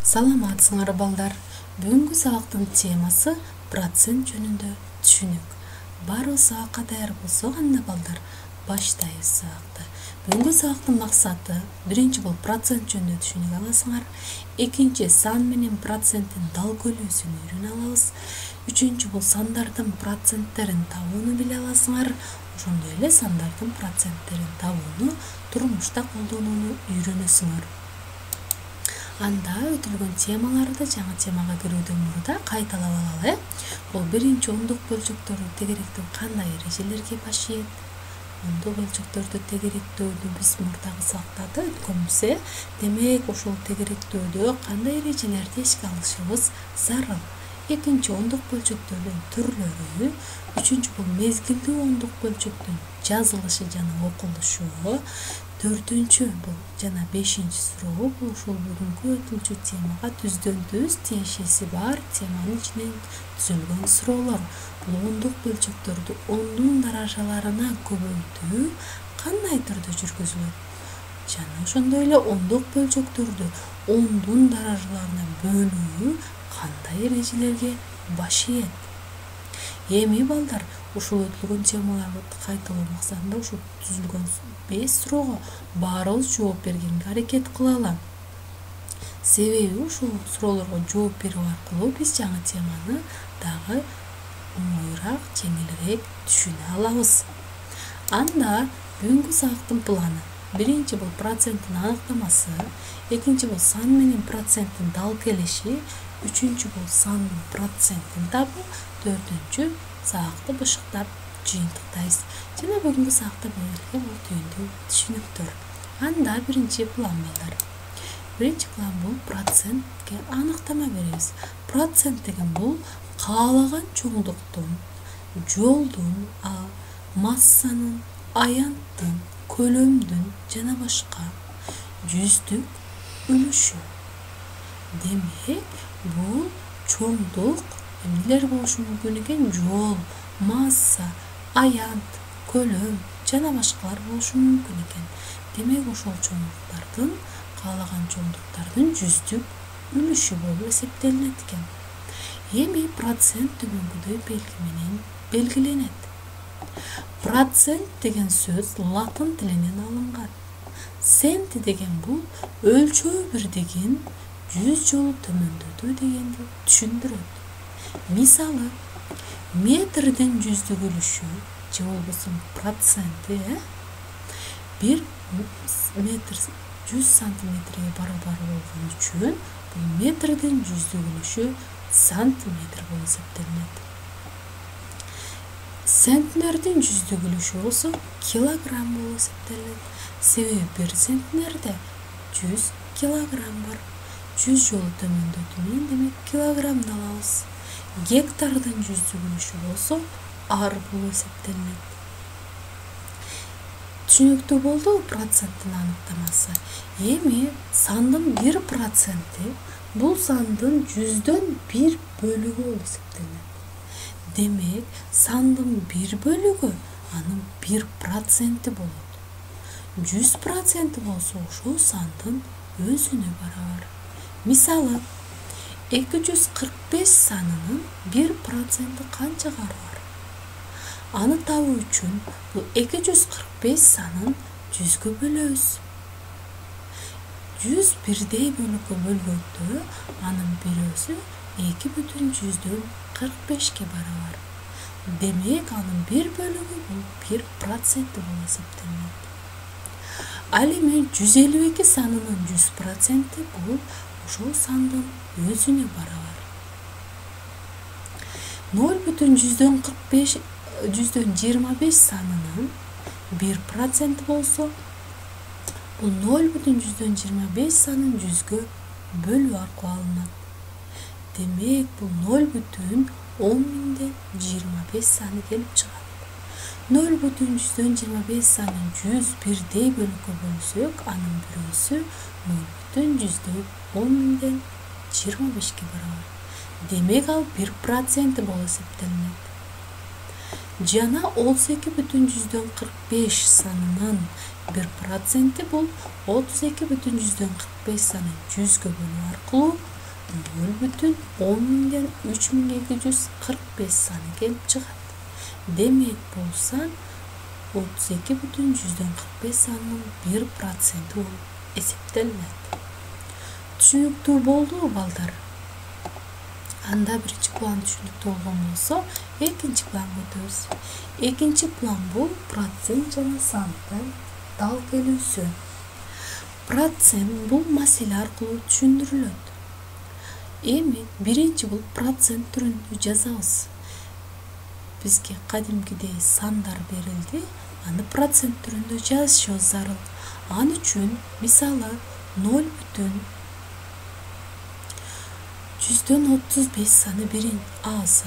Саламатсыңар балдар. Бүгүнкү сабактын темасы процент жөнүндө түшүнүк. Баарыбыз сабакка даяр болсок, анда балдар баштайбыз сабакты. Бүгүнкү сабактын максаты биринчи бул процент жөнүндө түшүнүк аласыңар. Экинчи сан менен проценттин дал көйлөөсүн үйрөнө алабыз. Үчүнчү бул сандардын проценттерин табууну биле аласыңар. Ошондой эле сандардын проценттерин табууну турмушта колдонууну үйрөнөсүңөр. Анда өтүлгөн темаларды жаңы темага кирүүдөн мурда кайталап алалы. Бул биринчи ондук бөлчөктөрдү тегеректөө кандай эрежелерге баш ийет? Ондук бөлчөктөрдү тегеректөөдү биз мурдагы сабактарда өткөнбүз. Демек, ошол тегеректөөдө кандай эрежелерди эске алышыбыз зарыл. Экинчи ондук бөлчөктөрдүн түрлөрү, үчүнчү бул мезгилдүү ондук бөлчөктүн жазылышы жана окулушу, төртүнчү бул жана бешинчи суроо бул ушул бүгүнкү өтүлчү темага түздөн түз тиешеси бар теманын ичинен түзүлгөн суроолор. Бул ондук бөлчөктөрдү ондун даражаларына көбөйтүү кандай түрдө жүргүзүлөт? Жана ошондой эле ондук бөлчөктөрдү ондун даражаларына бөлүү кандай эрежелерге баш ийет? Эми балдар, ушул өтүлгөн темаларды кайталоо максатында ушул түзүлгөн 5 суроого баарыбыз жооп бергенге аракет кылалы. Себеби ушул суроолорго жооп берүү аркылуу биз жаңы теманы дагы оңоюраак, жеңилирээк түшүнө алабыз. Анда бүгүнкү сабактын планы: биринчи бул проценттин аныктамасы, экинчи бул сан менен проценттин дал келиши, үчүнчү бул сандын процентин табуу, төртүнчү сабакты бышыктап жыйынтыктайбыз. Жана бүгүнкү сабакта берилген бул түйүндүү түшүнүктөр. Анда биринчи план балдар. Биринчи план бул процентке аныктама беребиз. Процент деген бул каалаган чоңдуктун, жолдун, массанын, аянттын, көлөмдүн жана башка жүздүк үлүшү. Демек, бул чоңдук эмнелер болушу мүмкүн экен? Жол, масса, аянт, көлөм жана башкалар болушу мүмкүн экен. Демек, ошол чоңдуктардын, каалаган чоңдуктардын жүздүк үлүшү болуп эсептелинет экен. Эми процент төмөнкүдөй белги менен белгиленет. Процент деген сөз латын тилинен алынган. Цент деген бул өлчөө бирдигин 100 жолу төмөндөтүү дегенди түшүндүрөт. Мисалы, метрдин жүздүк үлүшү же болбосо проценти 1 метр 100 сантиметрге барабар болгон үчүн бул метрдин жүздүк үлүшү сантиметр болуп эсептелинет. Центнердин жүздүк үлүшү болсо килограмм болуп эсептелинет. Себеби 1 центнерде 100 килограмм бар. 100 жолу төмөндөтүү менен демек килограммды алабыз. Гектардын жүздүк үлүшү болсо ар болуп эсептелинет. Түшүнүктүү болду проценттин аныктамасы. Эми сандын 1% бул сандын 100дөн 1 бөлүгү болуп эсептелинет. Демек, сандын 1 бөлүгү анын 1% болот. 100% болсо ошол сандын өзүнө барабар. Мисалы, 245 санынын 1% канчага бар? Аны табуу үчүн бул 245 санын 100гө бөлөбүз. 100 бирдей бөлүккө бөлгөндө анын бирөөсү 2,45ке барабар. Демек, анын 1 бөлүгү бул 1% болуп эсептелинет. Ал эми 152 санынын 100% бул ошол сандын өзүнө барабар. 0,125 санынын 1% болсо, бул 0,125 санын 100гө бөлүү аркылуу алынат. Демек, бул 0,1025 саны келип чыгат. 0,125 санын 100 бирдей бөлүккө бөлсөк, анын бирөөсү 0,1025ке барабар. Демек, ал 1% болуп эсептелинет. Жана 32,45 санынын 1% бул 32,45 санын 100гө бөлүү аркылуу 0,10 миңден 3245 саны келип чыгат. Демек бул сан 32,45 санынын 1% болуп эсептелинет. Түшүнүктүү болдубу балдар? Анда биринчи план түшүнүктүү болгон болсо, экинчи планга өтөбүз. Экинчи план бул процент жана сандын дал келүүсү. Процент бул маселе аркылуу түшүндүрүлөт. Эми биринчи бул процент түрүндө жазабыз. Бизге кадимкидей сандар берилди, аны процент түрүндө жазышыбыз зарыл. Ал үчүн мисалы 0,35 саны биринчи A'сы.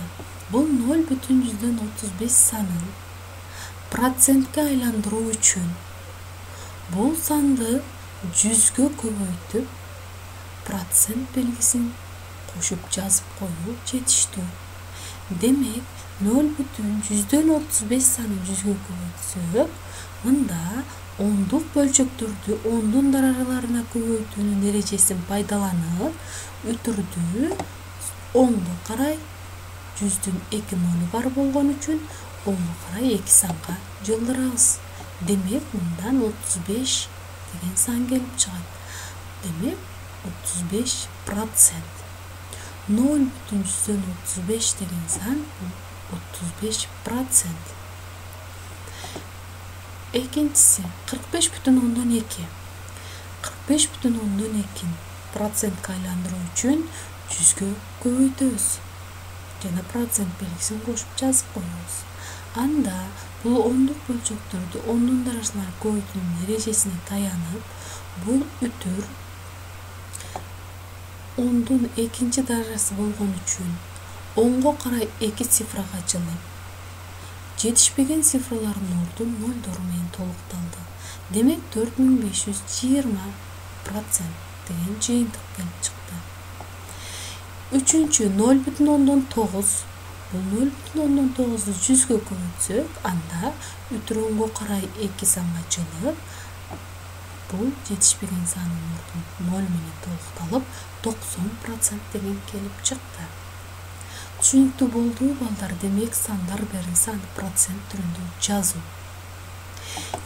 Бул 0,35 санын процентке айландыруу үчүн бул санды 100гө көбөйтүп, процент белгисин кошуп жазып коюу жетиштүү. Демек 0,35 санын 100гө көбөйтсөк, мында ондук бөлчөктөрдү ондун даражаларына көбөйтүүнүн эрежесин пайдаланып, үтүрдү 10го карай 100дүн 2 нолу бар болгон үчүн 10го карай 2 санга жылдырабыз. Демек мындан 35 деген сан келип чыгат. Демек 35%. 0,35 деген сан 35%. Экинчиси 45,2. 45,2 процентке айландыруу үчүн 100гө көбөйтөбүз жана процент белгисин кошуп жазып коебуз. Анда бул ондук бөлчөктөрдү ондун даражаларына көбөйтүүнүн эрежесине таянып, бул үтүр ондун экинчи даражасы болгон үчүн 10го карай 2 цифрага жылып, жетишпеген цифрлардын ордун нолдор менен толукталды. Демек 4520% деген жыйынтык келип чыкты. Үчүнчү 0,9. Бул 0,9ду 100гө көбөйтсөк, анда үтүр 10го карай 2 санга жылып, бул жетишпеген санын ордун 0 менен толукталып, 90% деген келип чыкты. Түшүнүктүү болдубу балдар? Демек сандар берилсе, аны процент түрүндө жазуу.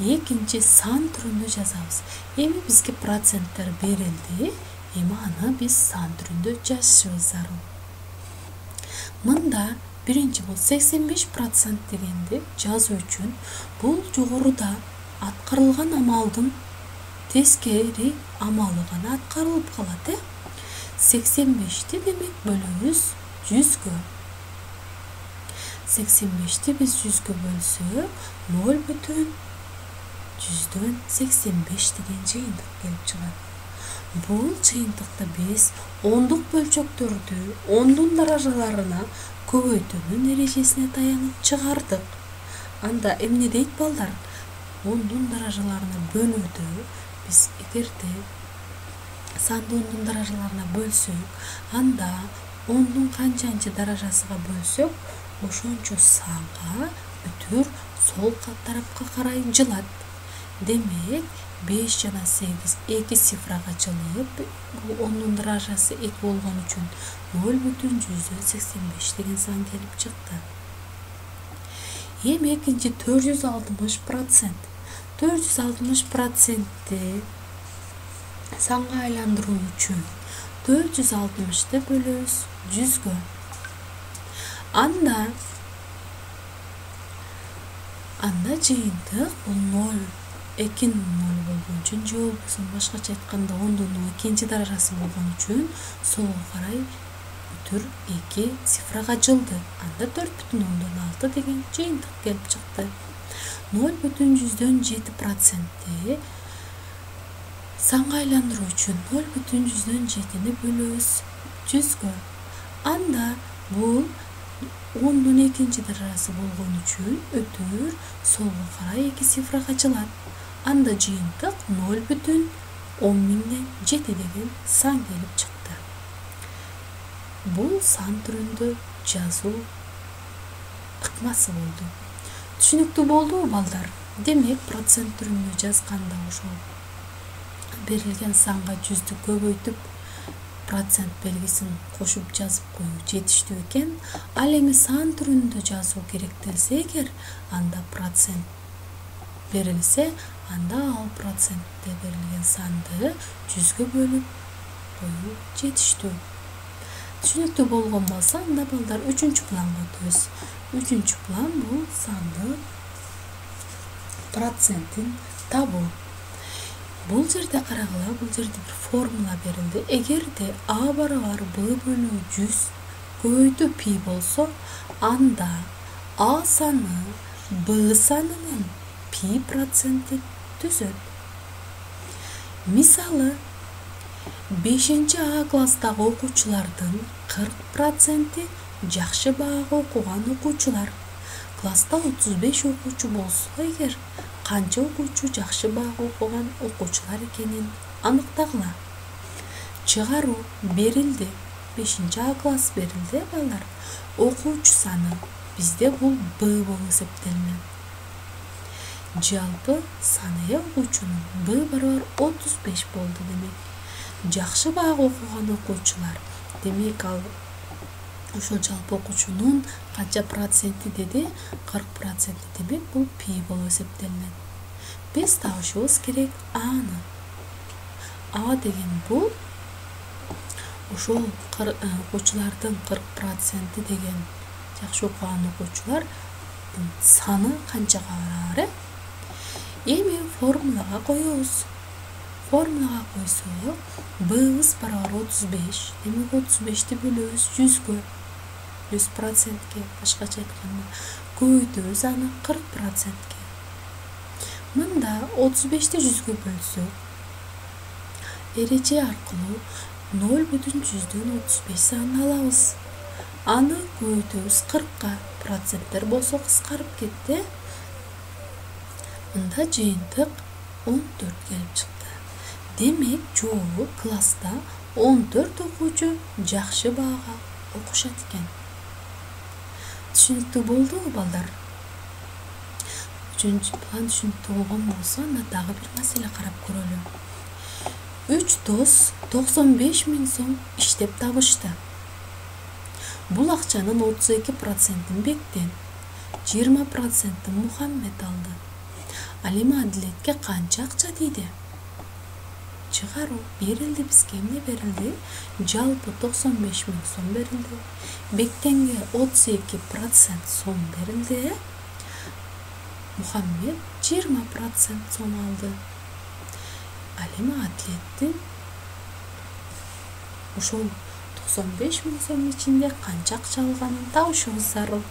Экинчи сан түрүндө жазабыз. Эми бизге проценттер берилди, эми аны биз сан түрүндө жазышыбыз зарыл. Мында биринчи бул 85% дегенди жазуу үчүн бул жогоруда аткарылган амалдын тескери амалы гана аткарылып калат, 85ти демек бөлөбүз 100гө. 85ти биз 100гө бөлсөк, 0,185 деген жыйынтык келип чыгат. Бул жыйынтыкты биз ондук бөлчөктөрдү ондун даражаларына көбөйтүүнүн эрежесине таянып чыгардык. Анда эмне дейт балдар? Ондун даражаларына бөлүүдө биз эгерде санды ондун даражаларына бөлсөк, анда ондун канчанчы даражасыга бөлсөк, ошончо санга үтүр сол тарапка карай жылат. Демек 5 жана 8 2 цифрага жылып, бул ондун даражасы 2 болгон үчүн 0,185 деген сан келип чыкты. Эми экинчи 460%. 460%ти санга айландыруу үчүн 460ты бөлөбүз 100гө. Анда жыйынтык бул 0, 2 0 болгон үчүн, же болбосо башкача айтканда ондун экинчи даражасы болгон үчүн солго карай үтүр 2 цифрага жылды. Анда 4,6 деген жыйынтык келип чыкты. 0,7%ти санга айландыруу үчүн 0,7ни бөлөбүз 100гө. Анда бул ондун экинчи даражасы болгон үчүн өтүр солго карай 2 цифрага жылат. Анда жыйынтык 0,10,007 деген сан келип чыкты. Бул сан түрүндө жазуу ыкмасы болду. Түшүнүктүү болдубу балдар? Демек процент түрүндө жазганда ошол берилген санга 100дү көбөйтүп, процент белгисин кошуп жазып коюу жетиштүү экен. Ал эми сан түрүндө жазуу керектелсе эгер, анда процент берилсе, анда ал процентте берилген санды 100гө бөлүп коюу жетиштүү. Түшүнүктүү болгон болсо, анда балдар 3-планга өтөбүз. 3-план бул санды процентин табуу. Бул жерде карагыла, бул жерде бир формула берилди. Эгерде А барабар Б бөлүү 100 көбөйтүү пи болсо, анда А саны Б санынын пи проценти түзөт. Мисалы, 5А класстагы окуучулардын 40% жакшы баага окуган окуучулар. Класста 35 окуучу болсо эгер, канча окуучу жакшы баага окуган окуучулар экенин аныктагыла. Чыгаруу берилди. 5А класс берилди, балдар. Окуучу саны бизде бул Б болуп эсептелинет. Жалпы саны окуучунун Б барабар 35 болду демек. Жакшы баага окуган окуучулар. Демек ал ошол жалпы окуучунун канча проценти деди? 40%. Демек бул пи болуп эсептелинет. Биз табышыбыз керек Аны. А деген бул ошол окуучулардын 40% деген жакшы окуган окуучулар саны канчага барабар? Эми формулага коебуз. Формулага койсок, Б'быз барабар 35. Демек 35ти бөлөбүз 100гө. 100%ке, башкача айтканда, көбөйтөбүз аны 40%ке. Мында 35ти 100гө бөлсөк, эреже аркылуу 0,135 санын алабыз. Аны көбөйтөбүз 40ка. Проценттер болсо кыскарып кетти. Мында жыйынтык 14 келип чыкты. Демек, жолу класста 14 окуучу жакшы баага окушат экен. Түшүнүктүү болдубу, балдар? 3-план түшүнүктүү болгон болсо, анда дагы бир маселе карап көрөлү. 3 дос 95 000 сом иштеп табышты. Бул акчанын 32%-ин Бектен, 20%-ин Мухаммед алды. Ал эми Адилетке канча акча тийди? Чыгаруу берилди бизге. Эмне берилди? Жалпы 95 000 сом берилди. Бектенге 32% сом берилди. Мухаммед 20% сом алды. Ал эми Адилеттин ошол 95 000 сом ичинде канча акча алганын табышыбыз зарыл.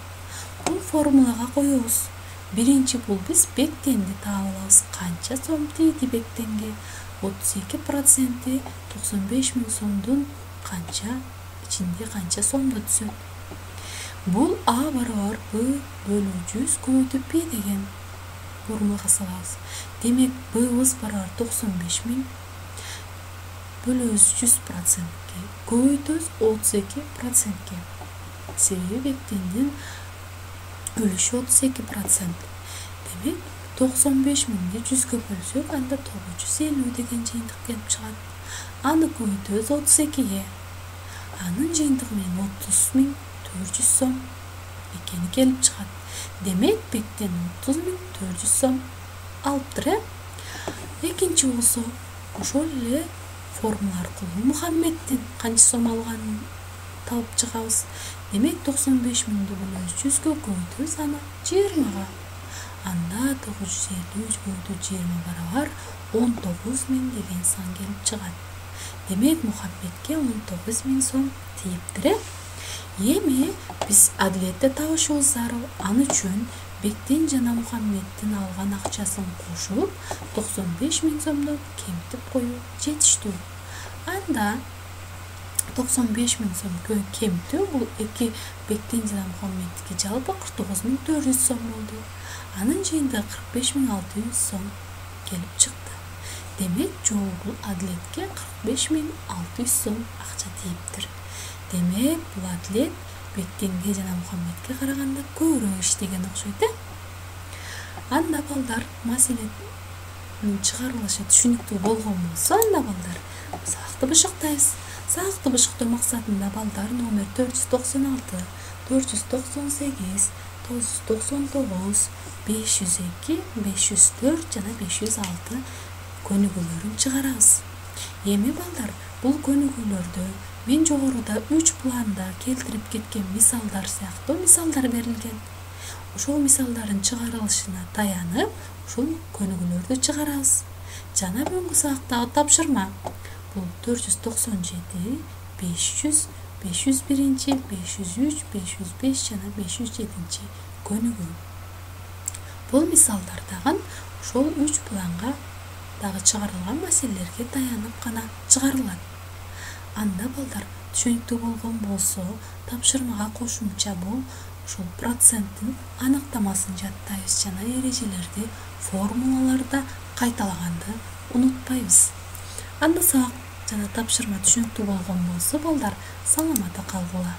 Бул формулага коебуз. Биринчи бул биз Бектенди таап алабыз. Канча сом тийди Бектенге? 32% 95 000 сомдун канча ичинде канча сомдо түзөт? Бул А барабар Б бөлүү 100 көбөйтүү пи деген формулага салабыз. Демек, Б'быз барабар 95 000 бөлөбүз 100%ке, көбөйтөбүз 32%ке. Себеби Бектендин өлүшү 32%. Демек, 95 000-ди 100гө бөлсөк, анда 950 деген жыйынтык келип чыгат. Аны көбөйтөбүз 32ге. Анын жыйынтыгы менен 30 400 сом экени келип чыгат. Демек, Бектен 30 400 сом алыптыр. Экинчи болсо, ошол эле формула аркылуу Мухаммеддин канча сом алганын табып чыгабыз. Демек, 95 000-ди бөлөбүз 100гө, көбөйтөбүз аны 20га. Анда 950 көбөйтүү 20 барабар 19 000 деген сан келип чыгат. Демек, Мухаммедке 19 000 сом тийиптир. Эми биз Адилетте табышыбыз зарыл. Аны үчүн Бектен жана Мухаммеддин алган акчасын кошуп, 95 000 сомдон кемитип коюу жетиштүү. Анда 95 000 сом кемитүү бул эки Бектен жана Мухаммеддики жалпы 49 400 сом болду. Анын жыйынтыгы 45 600 сом келип чыкты. Демек, жол бул Адилетке 45 600 сом акча тийиптир. Демек, бул Адилет Бектенге жана Мухаммедке караганда көбүрөөк иштеген окшойт. Анда балдар, маселенин чыгарылышы түшүнүктүү болгон болсо, анда балдар, сабакты башактайбыз. Саакты бышыктоо максатында балдар номер 496, 498, 999, 502, 504 жана 506 көнүгүүлөрүн чыгарабыз. Эми балдар, бул көнүгүүлөрдө мен жогоруда 3 планда келтирип кеткен мисалдар сыяктуу мисалдар берилген. Ошол мисалдардын чыгарылышына таянып, ушул көнүгүүлөрдү чыгарабыз. Жана бүгүнкү сабактагы тапшырма бул 497, 500, 501, 503, 505 жана 507 көнүгүү. Бул мисалдар дагы ошол 3 планга дагы чыгарылган маселелерге таянып гана чыгарылат. Анда балдар түшүнүктүү болгон болсо, тапшырмага кошумча бул ошол проценттин аныктамасын жаттайбыз жана эрежелерди, формулаларды кайталаганды унутпайбыз. Анда сабак жана тапшырма түшүнүктүү болгон болсо, балдар саламатта калгыла.